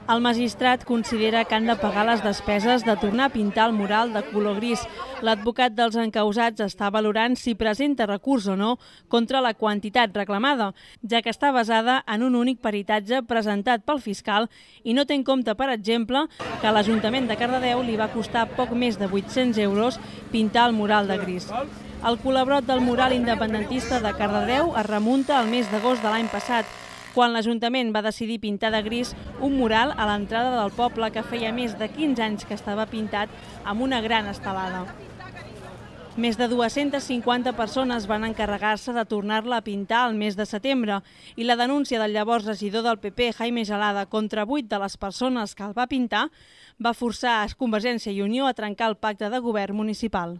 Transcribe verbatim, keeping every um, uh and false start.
El magistrat considera que han de pagar les despeses de tornar a pintar el mural de color gris. L'advocat dels encausats està valorant si presenta recurs o no contra la quantitat reclamada, ja que està basada en un únic peritatge presentat pel fiscal i no té en compte, per exemple, que a l'Ajuntament de Cardedeu li va costar poc més de vuit-cents euros pintar el mural de gris. El col·labrot del mural independentista de Cardedeu es remunta al mes d'agost de l'any passat, quan l'Ajuntament va decidir pintar de gris un mural a l'entrada del poble que feia més de quinze anys que estava pintat amb una gran estelada. Més de dues-centes cinquanta persones van encarregar-se de tornar-la a pintar al mes de setembre i la denúncia del llavors regidor del P P, Jaime Gelada, contra vuit de les persones que el va pintar va forçar a Convergència i Unió a trencar el pacte de govern municipal.